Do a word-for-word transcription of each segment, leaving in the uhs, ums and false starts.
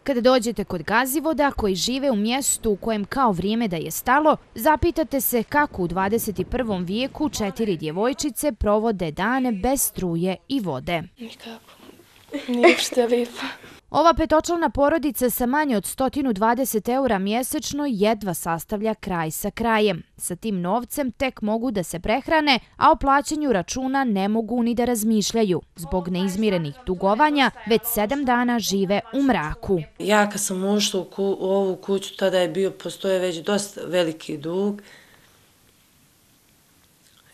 Kada dođete kod Gazivoda, koji žive u mjestu u kojem kao vrijeme da je stalo, zapitate se kako u dvadeset i prvom vijeku četiri djevojčice provode dane bez struje i vode. Nikako. Nije uopšte lijepo. Ova petočlana porodica sa manje od sto dvadeset eura mjesečno jedva sastavlja kraj sa krajem. Sa tim novcem tek mogu da se prehrane, a o plaćanju računa ne mogu ni da razmišljaju. Zbog neizmirenih dugovanja već sedam dana žive u mraku. Ja kad sam ušla u, ku, u ovu kuću, tada je bio, postoje već dosta veliki dug.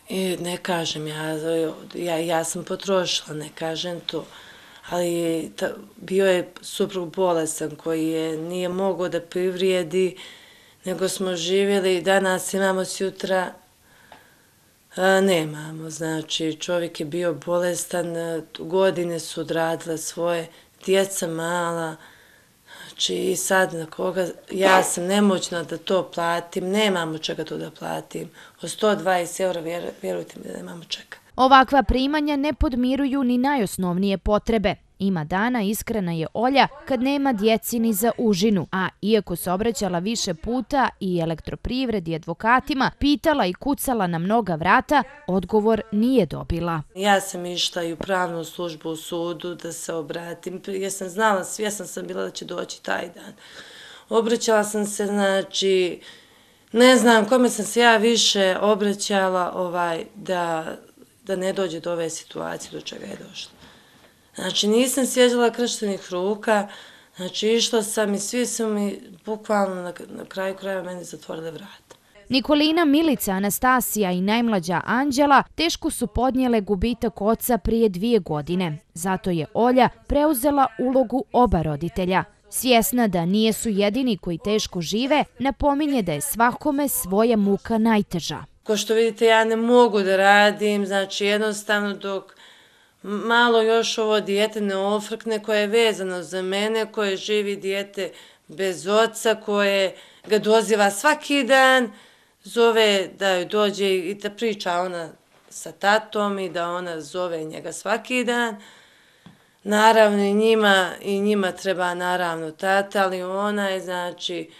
I ne kažem, ja, ja, ja sam potrošila, ne kažem to. Ali ta, bio je suprug bolestan koji je nije mogao da privrijedi, nego smo živjeli, danas imamo, sutra a, nemamo. Znači, čovjek je bio bolestan, godine su odradile svoje, djeca mala, znači i sad na koga, ja sam nemoćna da to platim, nemamo čega to da platim. O sto dvadeset eura, vjer, vjerujte mi da nemamo čega. Ovakva primanja ne podmiruju ni najosnovnije potrebe. Ima dana, iskrena je Olja, kad nema djeci ni za užinu, a iako se obraćala više puta i elektroprivredi i advokatima, pitala i kucala na mnoga vrata, odgovor nije dobila. Ja sam išla i u pravnu službu u sudu da se obratim, jer sam znala, svjesna sam bila da će doći taj dan. Obraćala sam se, znači, ne znam kome sam se ja više obraćala ovaj, da, da ne dođe do ove situacije do čega je došlo. Znači, nisam sjeđala krštenih ruka, znači, išla sam i svi su mi bukvalno na, na kraju kraja meni zatvorile vrata. Nikolina, Milica, Anastasija i najmlađa Anđela teško su podnijele gubitak oca prije dvije godine. Zato je Olja preuzela ulogu oba roditelja. Svjesna da nije su jedini koji teško žive, napominje da je svakome svoja muka najteža. Ko što vidite, ja ne mogu da radim, znači, jednostavno dok malo još ovo dijete ne ofrkne koje je vezano za mene, koje živi dijete bez oca, koje ga doziva svaki dan, zove da joj dođe i da priča ona sa tatom i da ona zove njega svaki dan. Naravno i njima, i njima treba naravno tata, ali ona je, znači,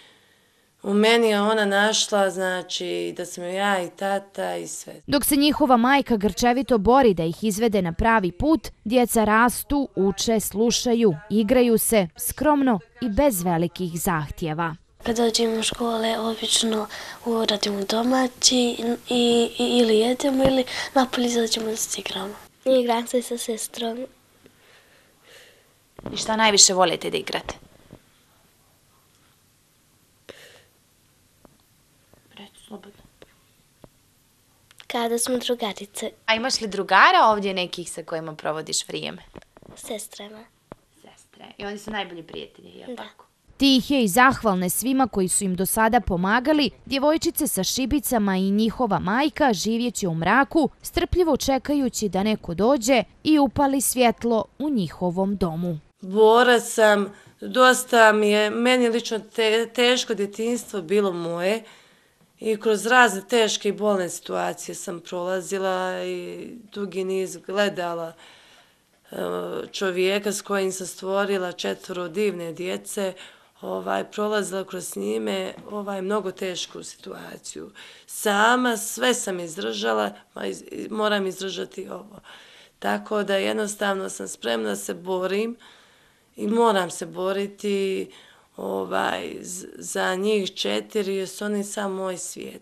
u meni je ona našla, znači, da sam ja i tata i sve. Dok se njihova majka grčevito bori da ih izvede na pravi put, djeca rastu, uče, slušaju, igraju se, skromno i bez velikih zahtjeva. Kad dođemo u škole, obično uradimo domaći i, i, ili jedemo ili napolje izađemo da se igramo. Igram se sa sestrom. I šta najviše volite da igrate? Kada smo drugarice. A imaš li drugara ovdje nekih sa kojima provodiš vrijeme? Sestrama. Sestre. I oni su najbolji prijatelji, je Da. tako? Tihe i zahvalne svima koji su im do sada pomagali, djevojčice sa šibicama i njihova majka živjeće u mraku, strpljivo čekajući da neko dođe i upali svjetlo u njihovom domu. Borac sam, dosta mi je, meni lično te, teško djetinjstvo bilo moje i kroz razne teške i bolne situacije sam prolazila i dugi niz gledala čovjeka s kojim sam stvorila četvoro divne djece, ovaj, prolazila kroz njime ovaj, mnogo tešku situaciju. Sama sve sam izdržala, ma iz, moram izdržati ovo. Tako da jednostavno sam spremna da se borim i moram se boriti ovaj, za njih četiri, jer su oni sam moj svijet.